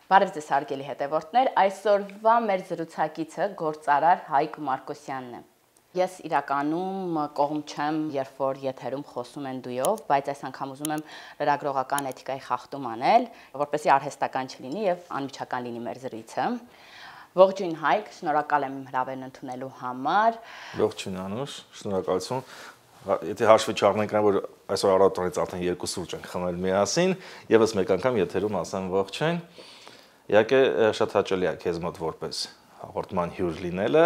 Բարև ձեզ հարգելի հետևորդներ, այսօրվա մեր զրուցակիցը գործարար Հայկ Մարկոսյանն է։ Ես իրականում կողմ չեմ, երբ որ եթերում խոսում են դույով, բայց այս անգամ ուզում եմ լրագրողական էթիկայի խախտում անել, որպեսզի արհեստական չլինի եւ անմիջական լինի մեր զրույցը։ Ողջույն Հայկ, շնորհակալ եմ հրավերն ընդունելու համար։ Ողջույն Անուշ, շնորհակալություն։ Եթե հաշվի չառնենք այն, որ այսօր առավոտից արդեն 2 սուրճ ենք խմել միասին, եւս մեկ անգամ եթերում ասեմ ողջույն։ Իհարկե շատ հաճելի է քեզ մոտ որպես հաղորդման հյուր լինելը։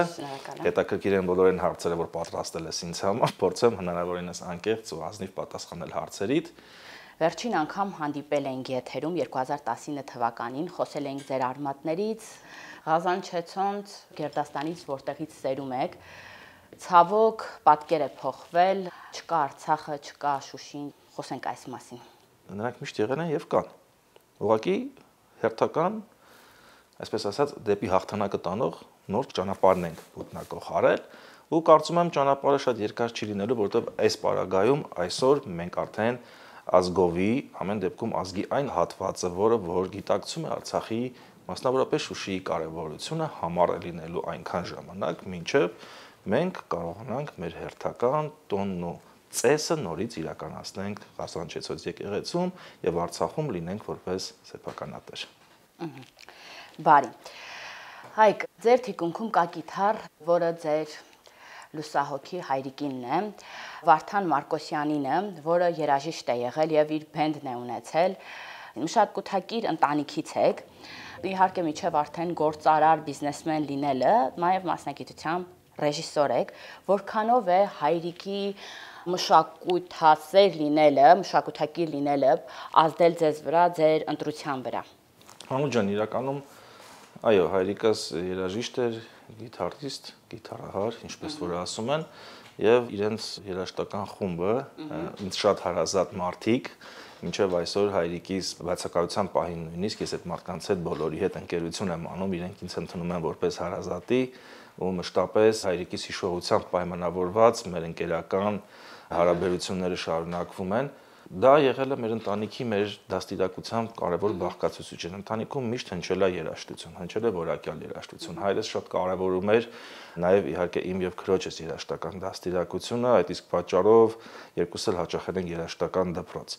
Հետաքրքիր են բոլոր այն հարցերը, որ պատրաստել ես ինձ համար, փորձեմ հնարավորինս անկեղծ ու ազնիվ պատասխանել հարցերիդ։ Վերջին անգամ հանդիպել ենք եթերում 2019 թվականին, խոսել ենք ձեր արմատներից, Ղազանչեցոնց, Գերդաստանից, որտեղից սերում եք։ Ցավոք, պատկեր է փոխվել, չկա Արցախը, չկա Շուշին, խոսենք այս մասին։ Նրանք միշտ եղել են եւ կան։ Ուղղակի հերթական, այսպես ասած, դեպի հաղթանակը տանող նոր ճանապարհն ենք ոտնակող արել, ու կարծում եմ ճանապարհը շատ երկար չի լինելու, որովհետեւ այս պարագայում այսօր մենք արդեն ազգովի, ամեն դեպքում ազգի այն հատվածը, որ գիտակցում է Արցախի, մասնավորապես Շուշիի կարևորությունը, համառ է լինելու այնքան ժամանակ, մինչև մենք կարողանանք մեր հերթական տոնն ու ծեսը նորից իրականացնենք Ղազանչեցոց եկեղեցում եւ Արցախում լինենք որպես սեփականատեր։ Բարի։ Հայկ, ձեր թիկունքում կա կիթառ, որը ձեր լուսահոգի հայրիկինն է, Վարդան Մարկոսյանինը, որը երաժիշտ է եղել եւ իր բենդն է ունեցել, մշակութակիր ընտանիքից եք։ Իհարկե միջև արդեն գործարար բիզնեսմեն լինելը, նաեւ մասնագիտությամբ ռեժիսոր եք, որքանով է հայրիկի մշակութասեր լինելը, մշակութակիր լինելը ազդել ձեզ վրա, ձեր ընտրության վրա։ Հանու ջան, իրականում այո, հայրիկս երաժիշտ էր, գիտարիստ, գիտարահար, ինչպես որ ասում են, եւ իրենց երաժշտական խումբը ինձ շատ հարազատ մարդիկ, մինչև այսօր հայրիկիս բացակայության պահին նույնիսկ ես այդ մարդկանց հետ բոլորի հետ ընկերություն եմ անում, իրենք ինձ ընդունում են որպես հարազատի ու մշտապես հայրիկիս հիշողությամբ պայմանավորված մեր ընկերական հարաբերությունները շարունակվում են։ Դա եղել է մեր ընտանիքի, մեր դաստիարակությամբ կարևոր բաղկացուցիչ։ Ընտանիքում միշտ հնչել է երաժշտություն, հնչել է որակյալ երաժշտություն։ Հայրս շատ կարևորում էր նաև իհարկե իմ եւ քրոջս երաժշտական դաստիարակությունը, այդ իսկ պատճառով երկուս էլ հաճախել են երաժշտական դպրոց։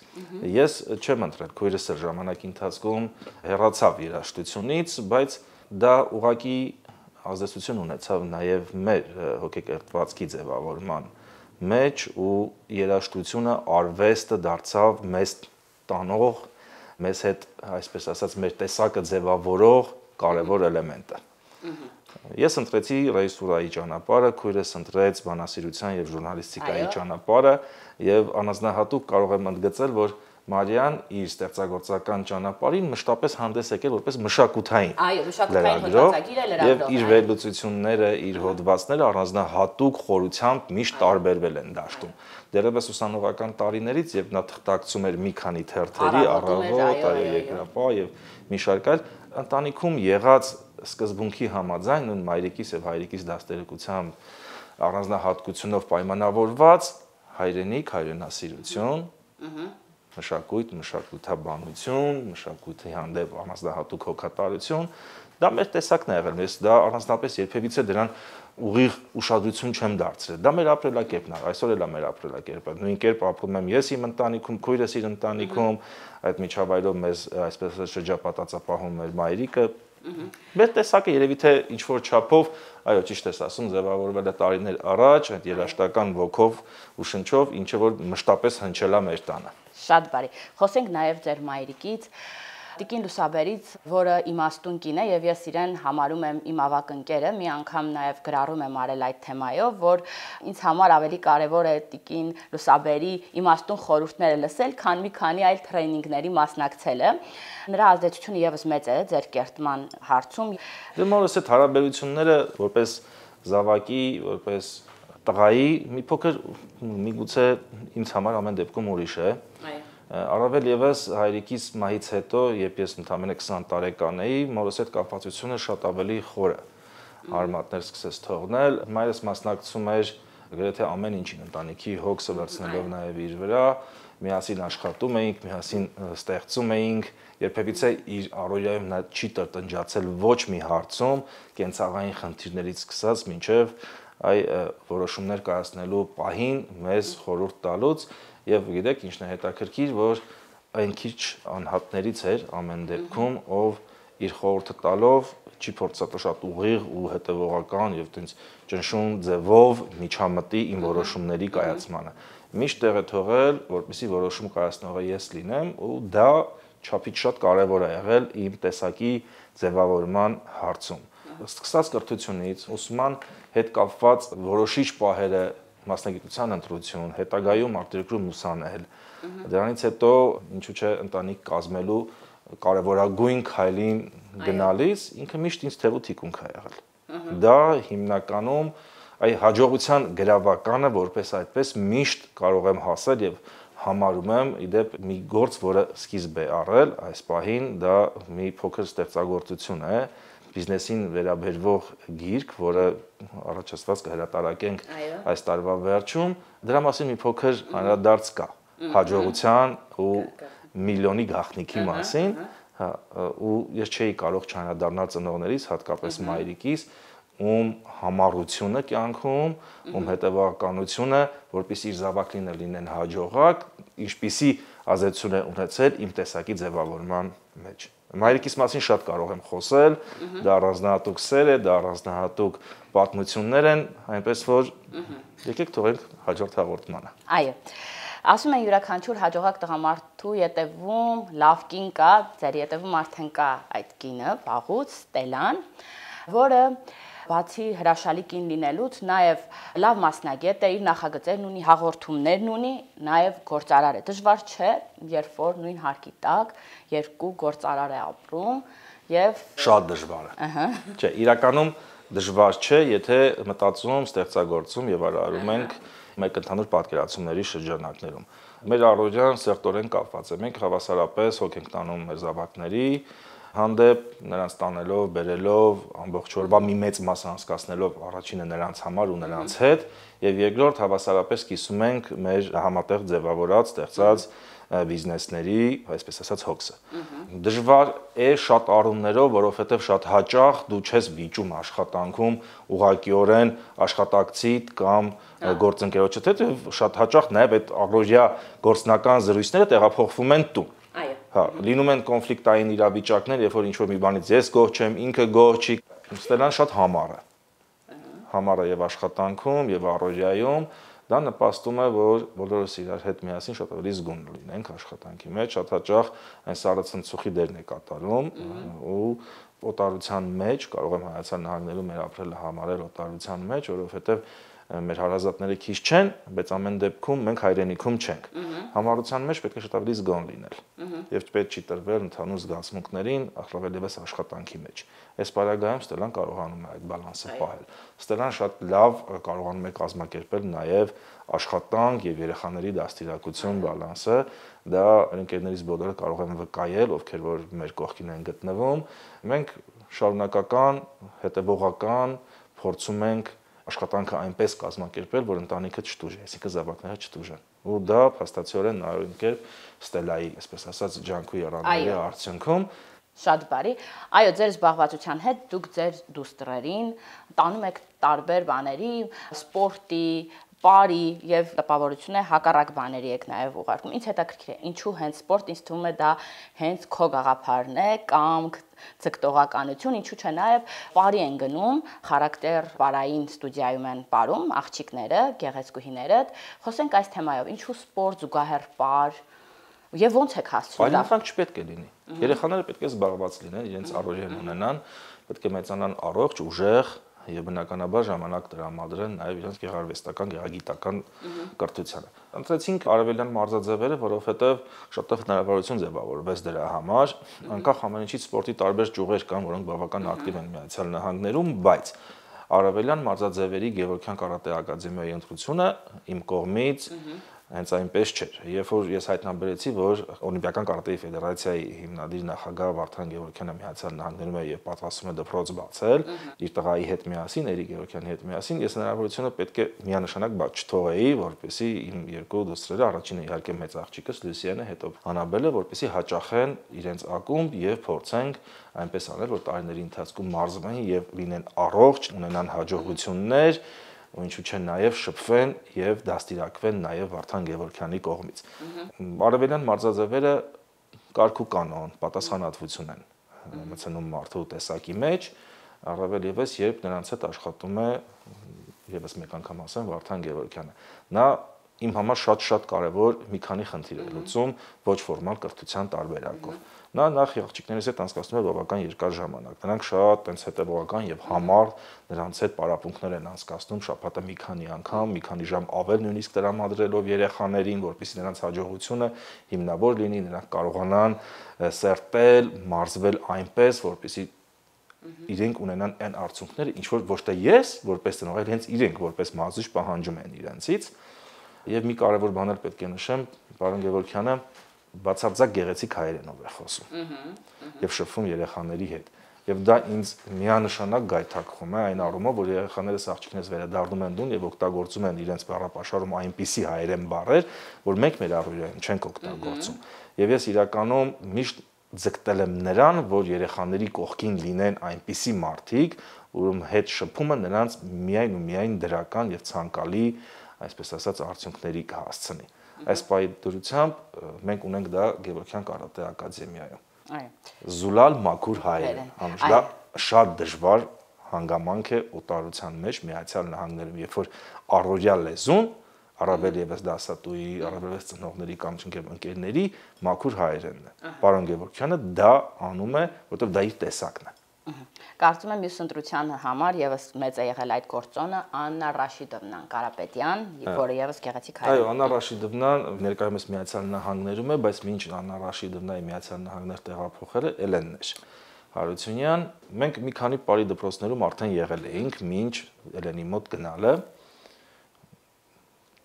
Ես չեմ ընտրել, քույրս էլ ժամանակի ընթացքում հեռացավ երաժշտությունից, բայց դա ուղղակի ազդեցություն ունեցավ նաև մեր հոգեկերտվածքի ձևավորման մեջ ու երաժշտությունը արվեստը դարձավ մեզ տանող, մեզ հետ, այսպես ասած, մեր տեսակը ձևավորող կարևոր էլեմենտը։ Ես ընտրեցի ռեժիսուրայի ճանապարհը, քույրս ընտրեց բանասիրության եւ ժուրնալիստիկայի ճանապարհը եւ առանձնահատուկ կարող եմ ընդգծել, որ Մարիան իր ստեղծագործական ճանապարհին մշտապես հանդես եկել որպես մշակութային հոդվածագիր է լրագրող, եւ իր վերլուծությունները, իր հոդվածները առանձնահատուկ խորությամբ միշտ տարբերվել են դաշտում։ Դեռևս ուսանողական տարիներից, երբ նա թղթակցում էր մի քանի թերթերի, Առավոտ, Երկրապահ եւ մի շարք այլ, ընտանիքում եղած սկզբունքի համաձայն նույն մայրիկիս եւ հայրիկիս դաստիարակությամբ առանձնահատկությունով պայմանավորված հայրենիք, հայրենասիրություն, մշակույթ, մշակութաբանություն, մշակույթի հանդեպ առանձնահատուկ հոգատարություն, դա մեր տեսակն է եղել, ես դա առանձնապես երբևիցե դրան ուղիղ ուշադրություն չեմ դարձրել, դա մեր ապրելակերպն է, այսօր էլ է մեր ապրելակերպը, նույն կերպ ապրում եմ ես իմ ընտանիքում, քույրս իր ընտանիքում, այդ միջավայրով մեզ այսպես շրջապատածապահում մեր մայրիկը, մեր տեսակը երևի թե ինչ-որ չափով, այո, ճիշտ ես ասում, ձևավորվել է տարիներ առաջ, այդ երաժշտական ոգով ու շնչով, ինչը որ մշտապես հնչել է մեր տանը։ Շատ բարի։ Խոսենք նաև ձեր մայրիկից, Տիկին Լուսաբերից, որը իմաստուն կին է եւ ես իրեն համարում եմ իմ ավագ ընկերը, մի անգամ նաև գրառում եմ արել այդ թեմայով, որ ինձ համար ավելի կարևոր է Տիկին Լուսաբերի իմաստուն խորհուրդները լսել, քան մի քանի այլ տրեյնինգների մասնակցելը։ Նրա ազդեցությունը եւս մեծ է ձեր կերտման հարցում։ Դե մորս այդ հարաբերությունները որպես զավակի, որպես տղայի մի փոքր միգուցե ինձ համար ամեն դեպքում ուրիշ է։ Առավել եւս հայրիկիս մահից հետո, երբ ես ընդամենը 20 տարեկան էի, մորս հետ կապվածությունը շատ ավելի խոր է։ Արմատներ սկսեց թողնել, մայրս մասնակցում էր գրեթե ամեն ինչին ընտանիքի հոգսը վերցնելով նաև իր վրա, միասին աշխատում էինք, միասին ստեղծում էինք, երբևիցե իր առօրյայում նա չի տնջացել ոչ մի հարցում, կենցաղային խնդիրներից սկսած մինչև որոշումներ կայացնելու պահին մեզ խորհուրդ տալուց եւ գիտեք ինչն է հետաքրքիր, որ այն քիչ անհատներից էր ամեն դեպքում, ով իր խորհուրդը տալով չի փորձածո շատ ուղիղ ու հետևողական եւ տենց ճնշում ձևով միջամտի իմ որոշումների կայացմանը։ Միշտ տեղ է թողել, որպեսզի որոշում կայացնողը ես լինեմ, ու դա չափից շատ կարևոր է եղել իմ տեսակի ձևավորման հարցում։ Սկսած կրթությունից, ուսման հետ կապված որոշիչ պահերը, մասնագիտության ընտրություն, հետագայում արտերկրում ուսանել։ Դրանից հետո ինչու՞ չէ ընտանիք կազմելու կարևորագույն քայլին գնալիս ինքը միշտ ինձ թևու թիկունք է եղել։ Դա հիմնականում հաջողության գրավականը, որպես այդպես միշտ կարող եմ հասել եւ համարում եմ իդեպ մի գործ, որը սկիզբ է առել այս պահին, դա մի փոքր ստեղծագործություն է, բիզնեսին վերաբերվող գիրք, որը առաջացված կհրատարակենք այս տարվա վերջում, դրա մասին մի փոքր անդրադարձ կա հաջողության ու միլիոնի գաղտնիքի մասին, ու ես չէի կարող չանդրադառնալ ծնողներիս, հատկապես մայրիկիս, ում համառությունը կյանքում, ում հետևողականությունը, որպեսզի իր զավակները լինեն հաջողակ, ինչպիսի ազդեցություն է ունեցել իմ տեսակի ձևավորման մեջ։ Մայրիկիս մասին շատ կարող եմ խոսել, դա առանձնահատուկ սեր է, դա առանձնահատուկ պատմություններ են, այնպես որ եկեք թողենք հաջորդ հաղորդմանը։ Այո։ Ասում են յուրաքանչյուր հաջողակ տղամարդու ետևում լավ կին կա, ձեր ետևում արդեն կա այդ կինը, վաղուց Ստելան, որը բացի հրաշալի կին լինելուց նաև լավ մասնագետ է, իր նախագծերն ունի, հաղորդումներն ունի, նաև գործարար է։ Դժվար չէ, երբ որ նույն հարկի տակ երկու գործարար է ապրում եւ շատ դժվար է։ Չէ, իրականում դժվար չէ, եթե մտածում, ստեղծագործում եւ արարում ենք մեկ ընդհանուր պատկերացումների շրջանակներում։ Մեր առօրյան սերտորեն կապված է։ Մենք հավասարապես հոգ ենք տանում մեր զավակների հանդեպ, նրանց տանելով, բերելով, ամբողջ օրվա մի մեծ մասը անցկացնելով առաջինը նրանց համար ու նրանց հետ, եւ երկրորդ հավասարապես կիսում ենք մեր համատեղ ձևավորած, ստեղծած բիզնեսների, այսպես ասած, հոգսը։ Դժվար է շատ առումներով, որովհետեւ շատ հաճախ դու չես վիճում աշխատանքում ուղղակիորեն աշխատակցիդ կամ գործընկերոջդ հետ, եւ շատ հաճախ նաեւ այդ առօրյա գործնական զրույցները տեղափոխվում են տուն։ Հա, լինում են կոնֆլիկտային իրավիճակներ, երբ որ ինչ-որ մի բանից ես գոհ չեմ, ինքը գոհ չի։ Ստելան շատ համառ է։ Համառ է եւ աշխատանքում, եւ առօրյայում, դա նպաստում է, որ բոլորս իրար հետ միասին շատ ավելի զգոն լինենք աշխատանքի մեջ, շատ հաճախ այն սառը ցնցուխի դերն է կատարում ու օտարության մեջ կարող եմ Հայաստան նահանգներում մեր ապրելը համարել օտարության մեջ, որովհետեւ մեր հարազատները քիչ չեն, բայց ամեն դեպքում մենք հայրենիքում չենք։ Համառության մեջ պետք է շատ ավելի զգոն լինել։ Եվ պետք չի տրվել ընդհանուր զգացմունքներին, առավել ևս աշխատանքի մեջ։ Այս պարագայում Ստելան կարողանում է այդ բալանսը պահել։ Ստելան շատ լավ կարողանում է կազմակերպել նաև աշխատանք եւ երեխաների դաստիարակություն բալանսը։ Դա ընկերներից բոլորը կարող են վկայել, ովքեր որ մեր կողքին են գտնվում։ Մենք շարունակական, հետևողական փորձում ենք աշխատանքը այնպես կազմակերպել, որ ընտանիքը չտուժի, այսինքն զավակները չտուժեն։ Ու դա փաստացիորեն նայում կերպ Ստելայի, այսպես ասած, ջանքու եռանդների արդյունքում շատ բարի։ Այո, ձեր զբաղվածության հետ դուք ձեր դուստրերին տանում եք տարբեր բաների, սպորտի, բարի եւ տպավորություն է հակառակ բաների եք նաեւ ուղարկում։ Ինչ հետաքրքիր է, ինչու հենց սպորտ, ինձ թվում է դա հենց քո գաղափարն է կամ ցկտողականություն, ինչու՞ չէ նաեւ բարի են գնում, խարակտեր բարային ստուդիայում են ապրում աղջիկները, գեղեցկուհիները։ Խոսենք այս թեմայով, ինչու սպորտ, զուգահեռ բար եւ ոնց եք հասցնում։ Բարինfanք չպետք է լինի։ Երեխաները պետք է զբաղված լինեն, իրենց առօրյան ունենան, պետք է մեծանան առողջ, ուժեղ եւ բնականաբար ժամանակ տրամադրեն նաեւ իրենց գեղարվեստական, գեղագիտական կրթությանը։ Ընտրեցինք արևելյան մարզաձևերը, որովհետեւ շատ հնարավորություն ձևավորվեց դրա համար, անկախ ամեն ինչից սպորտի տարբեր ճյուղեր կան, որոնք բավական ակտիվ են Միացյալ Նահանգներում, բայց արևելյան մարզաձևերի Գևորգյան կարատե ակադեմիայի ընտրությունը իմ կողմից Հենց այնպես չէր։ Երբ որ ես հայտնաբերեցի, որ Օլիմպիական կարատեի ֆեդերացիայի հիմնադիր նախագահ Վարդան Գևորգյանը Միացյալ Նահանգներում է եւ պատրաստում է դպրոց բացել, իր տղայի հետ միասին, Էրիկ Գևորգյանի հետ միասին, ես հնարավորությունը պետք է միանշանակ բաց չթողեի, որպեսզի իմ երկու դուստրերը, առաջինը իհարկե մեծ աղջիկս Լուսիանը, հետո Անաբելը, որպեսզի հաճախեն իրենց ակումբ եւ փորձենք այնպես անել, որ տարիների ընթացքում մարզվեն եւ լինեն առողջ, ունենան հաջողություններ, ու ինչու՞ չէ նաև շփվեն եւ դաստիարակվեն նաև Վարդան Գևորգյանի կողմից։ Արևելյան մարզաձևերը կարգ ու կանոն, պատասխանատվություն են մտցնում մարդու տեսակի մեջ, առավել եւս երբ նրանց հետ աշխատում է եւս մեկ անգամ ասեմ Վարդան Գևորգյանը։ Նա իմ համար շատ կարևոր մի քանի խնդիր է լուծում ոչ ֆորմալ կրթության տարբերակով։ Նա նախ աղջիկներից հետ անցկացնում է բավական երկար ժամանակ։ Նրանք շատ այնց հետևողական եւ համառ նրանց հետ պարապմունքներ են անցկացնում շաբաթը մի քանի անգամ, մի քանի ժամ ավել նույնիսկ տրամադրելով երեխաներին, որպեսզի նրանց հաջողությունը հիմնավոր լինի, նրանք կարողանան սերտել, մարզվել այնպես, որպեսզի իրենք ունենան այն արդյունքները, ինչ որ ոչ թե ես որպես տնօրեն, այլ հենց իրենք որպես մարզիչ պահանջում են իրենցից։ Եվ մի կարևոր բան էլ պետք է նշեմ, պարոն Գևորգյանը բացարձակ գեղեցիկ հայերենով է խոսում եւ շփվում երեխաների հետ եւ դա ինձ միանշանակ գայթակղում է այն առումով որ երեխաներս աղջիկներս վերադառնում են տուն եւ օգտագործում են իրենց բառապաշարում այնպիսի հայերեն բառեր որ մենք մեր առօրյայում չենք օգտագործում եւ ես իրականում միշտ ձգտել եմ նրան որ երեխաների կողքին լինեն այնպիսի մարդիկ ում հետ շփումը նրանց միայն ու միայն դրական եւ ցանկալի այսպես ասած արդյունքների կհասցնի Այս պայդրությամբ մենք ունենք դա Գևորգյան կարատե ակադեմիայում։ Այո։ Զուլալ մաքուր հայերեն։ Դա շատ դժվար հանգամանք է օտարության մեջ Միացյալ Նահանգներում, երբ որ առօրյա լեզուն, առավել եւս դասատուի, առավել եւս ծնողների կամ ընկերների մաքուր հայերենն է։ Պարոն Գևորգյանը դա անում է, որովհետեւ դա իր տեսակն է։ Կարծում եմ մյուս ընտրության համար եւս մեծ է եղել այդ գործոնը Աննա Ռաշիդովնան Կարապետյան, որը եւս գեղեցիկ հայ է։ Այո, Աննա Ռաշիդովնան ներկայումս Միացյալ Նահանգներում է, բայց մինչ Աննա Ռաշիդովնայի Միացյալ Նահանգներ տեղափոխելը Էլենն էր Հարությունյան։ Մենք մի քանի բարի դպրոցներում արդեն եղել էինք, մինչ Էլենի մոտ գնալը։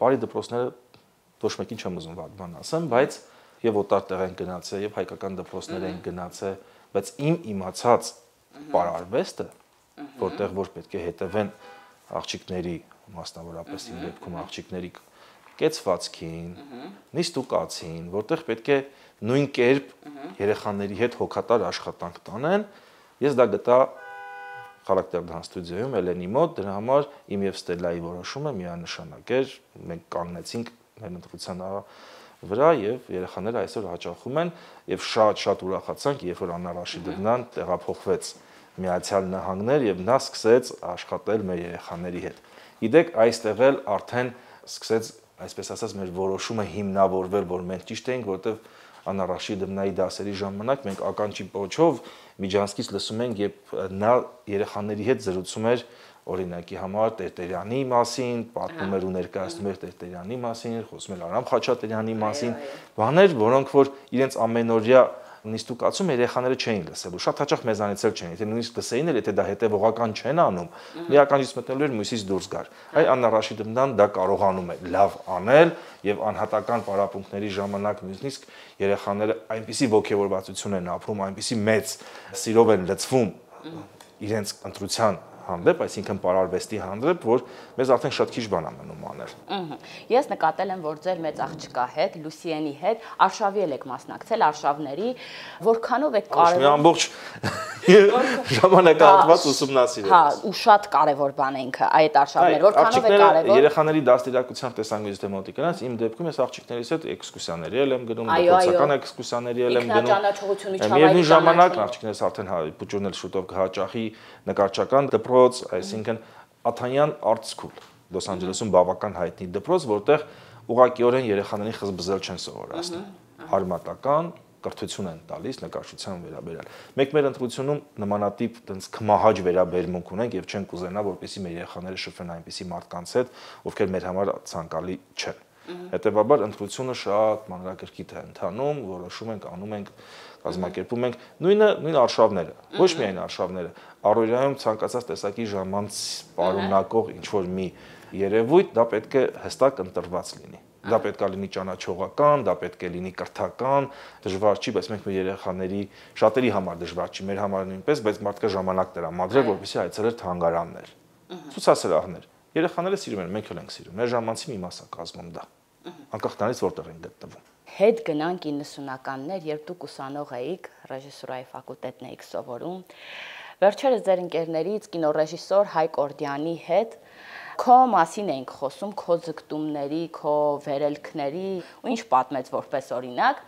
Բարի դպրոցները ոչ մեկին չեմ ուզում վատ բան ասեմ, բայց եւ օտար տեղ են գնացել, եւ հայկական դպրոցներ են գնացել, բայց իմ իմացած պարարվեստը, որտեղ որ պետք է հետևեն աղջիկների, մասնավորապես իմ դեպքում աղջիկների կեցվածքին, նիստուկացին, որտեղ պետք է նույն կերպ երեխաների հետ հոգատար աշխատանք տանեն, ես դա գտա Խարակտերդան ստուդիոյում Էլենի մոտ, դրա համար իմ եւ Ստելլայի որոշումը միանշանակ էր, մենք կանգնեցինք մեր ընտրության վրա եւ երեխաները այսօր հաճախում են եւ շատ ուրախացանք, երբ որ Աննա Ռաշիդովնան տեղափոխվեց Միացյալ Նահանգներ եւ նա սկսեց աշխատել մեր երեխաների հետ։ Գիտեք, այստեղ էլ արդեն սկսեց, այսպես ասած, մեր որոշումը հիմնավորվել, որ մենք ճիշտ էինք, որովհետեւ Աննա Ռաշիդովնայի դասերի ժամանակ մենք ականջի պոչով Միջանցքից լսում ենք, երբ նա երեխաների հետ զրուցում էր օրինակի համար Տերտերյանի մասին, պատմում էր ու ներկայացնում էր Տերտերյանի մասին, խոսում էր Արամ Խաչատրյանի մասին, բաներ, որոնք որ իրենց ամենօրյա նիստուկացում երեխաները չէին լսելու, շատ հաճախ մեզանից էլ չէին, եթե նույնիսկ լսեին էլ, եթե դա հետևողական չեն անում, մի ականջից մտնելու էր մյուսից դուրս գար։ Այ Աննա Ռաշիդովնան դա կարողանում է լավ անել եւ անհատական պարապմունքների ժամանակ նույնիսկ երեխաները այնպիսի ոգևորվածություն են ապրում, այնպիսի մեծ սիրով են լցվում իրենց ընտրության հանդեպ, այսինքն պարարվեստի հանդեպ, որ մեզ արդեն շատ քիչ բան ամենում անել։ Ես նկատել եմ, որ ձեր մեծ աղջկա հետ, Լուսիենի հետ արշավի եք մասնակցել, արշավների, որքանով եք կարևոր։ Մի ամբողջ ժամանակահատված ուսումնասիրել։ Հա, ու շատ կարևոր բան է ինքը այդ արշավները, որքանով է կարևոր։ Երեխաների դաստիարակության տեսանկյունից դե մոտիկանաց, իմ դեպքում ես աղջիկներիս հետ էքսկուրսիաների եմ գնում, դպրոցական էքսկուրսիաների եմ գնում։ Միևնույն ժամանակ աղջիկներս արդեն բուջուրն էլ շուտով կհաճախի նկարչական դպրոց, այսինքն Աթանյան Art School, Լոս Անջելեսում բավական հայտնի դպրոց, որտեղ ուղղակիորեն երեխաներին խզբզել չեն սովորացնում։ Արմատական կրթություն են տալիս նկարչության վերաբերյալ։ Մենք մեր ընտրությունում նմանատիպ տենց քմահաճ վերաբերմունք ունենք եւ չենք կուզենա, որպեսզի մեր երեխաները շփվեն այնպիսի մարդկանց հետ, ովքեր մեր համար ցանկալի չեն։ Հետևաբար ընտրությունը շատ մանրակրկիտ է ընթանում, որոշում ենք, անում ենք, կազմակերպում ենք նույն արշավները, ոչ միայն արշավները, առօրյայում ցանկացած տեսակի ժամանց պարունակող ինչ որ մի երևույթ, դա պետք է հստակ ընտրված լինի։ Դա պետք է լինի ճանաչողական, դա պետք է լինի կրթական, դժվար չի, բայց մենք մեր երեխաների շատերի համար դժվար չի, մեր համար նույնպես, բայց մարդկա ժամանակ տրամադրել, որպեսզի այցելեր թանգարաններ, ցուցասրահներ։ Երեխաները սիրում են, մենք էլ ենք սիրում։ Մեր ժամանցի մի մաս է կազմում դա։ Անկախ նրանից որտեղ են գտնվում։ Հետ գնանք 90-ականներ, երբ դուք ուսանող էիք, ռեժիսուրայի ֆակուլտետն էիք սովորում։ Վերջերս ձեր ընկերներից կինոռեժիսոր Հայկ Օրդյանի հետ քո մասին էինք խոսում, քո ձգտումների, քո վերելքների, ու ինչ պատմեց որպես օրինակ,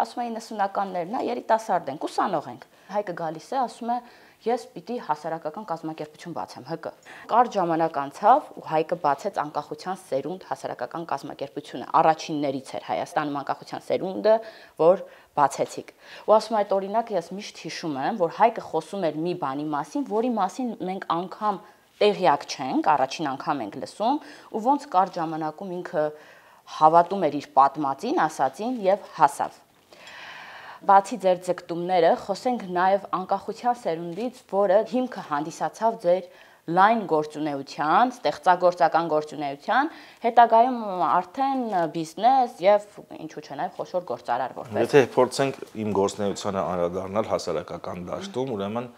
ասում է 90-ականներն է, երիտասարդ ենք, ուսանող ենք։ Հայկը գալիս է, ասում է, ես պիտի հասարակական կազմակերպություն բացեմ, ՀԿ։ Կարճ ժամանակ անցավ ու Հայկը բացեց անկախության սերունդ հասարակական կազմակերպությունը։ Առաջիններից էր Հայաստանում անկախության սերունդը, որ բացեցիք։ Ու ասում այդ օրինակ ես միշտ հիշում եմ, որ Հայկը խոսում էր մի բանի մասին, որի մասին մենք անգամ տեղյակ չենք, առաջին անգամ ենք լսում, ու ոնց կարճ ժամանակում ինքը հավատում էր իր պատմածին, ասածին եւ հասավ։ Բացի ձեր ձգտումները, խոսենք նաև անկախության սերունդից, որը հիմքը հանդիսացավ ձեր լայն գործունեության, ստեղծագործական գործունեության, հետագայում արդեն բիզնես եւ ինչու՞ չէ նաև խոշոր գործարար որպես։ Եթե փորձենք իմ գործունեությանը անդրադառնալ հասարակական դաշտում, ուրեմն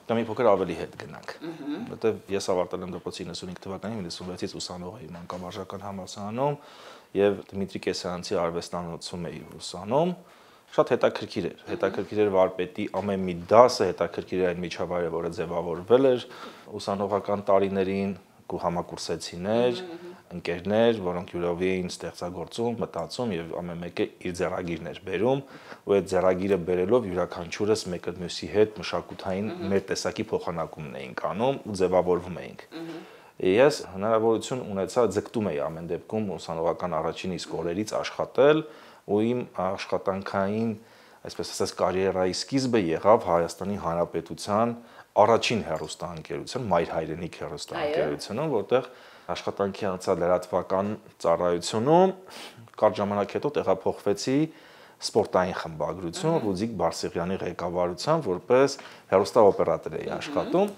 դա մի փոքր ավելի հետ գնանք, որտեղ ես ավարտել եմ դպրոցի 95 թվականին, 96-ից ուսանող էի մանկավարժական համալսարանում եւ Դմիտրի Կեսարյանցի արվեստանոցում էի ուսանում։ Շատ հետաքրքիր էր վարպետի ամեն մի դասը, հետաքրքիր էր այն միջավայրը, որը ձևավորվել էր ուսանողական տարիներին, համակուրսեցիներ, ընկերներ, որոնք յուրովի էին ստեղծագործում, մտածում եւ ամեն մեկը իր ձեռագիրն էր բերում, ու այդ ձեռագիրը բերելով յուրաքանչյուրս մեկը մյուսի հետ մշակութային մեր տեսակի փոխանակումն էինք անում ու ձևավորվում էինք։ Ես հնարավորություն ունեցա, ձգտում էի ամեն դեպքում ուսանողական առաջին իսկ օրերից աշխատել, ու իմ աշխատանքային, այսպես ասած, կարիերայի սկիզբը եղավ Հայաստանի Հանրապետության առաջին հեռուստաընկերություն, Մայր հայրենիք հեռուստաընկերությունում, որտեղ աշխատանքի անցա լրատվական ծառայությունում, կարճ ժամանակ հետո տեղափոխվեցի սպորտային խմբագրություն Ռուդիկ Բարսեղյանի ղեկավարությամբ, որպես հեռուստաօպերատոր էի աշխատում,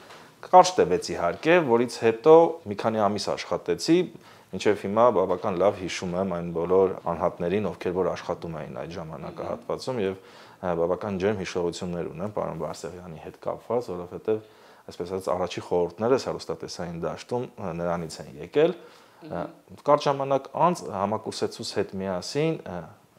կարճ տևեց իհարկե, որից հետո մի քանի ամիս աշխատեցի, մինչև հիմա բավական լավ հիշում եմ այն բոլոր անհատներին, ովքեր որ աշխատում էին այդ ժամանակահատվածում եւ բավական ջերմ հիշողություններ ունեմ պարոն Բարսեղյանի հետ կապված, որովհետեւ այսպես ասած առաջի խորհուրդներս հեռուստատեսային դաշտում նրանից են եկել։ Կարճ ժամանակ անց համակուրսեցուց հետ միասին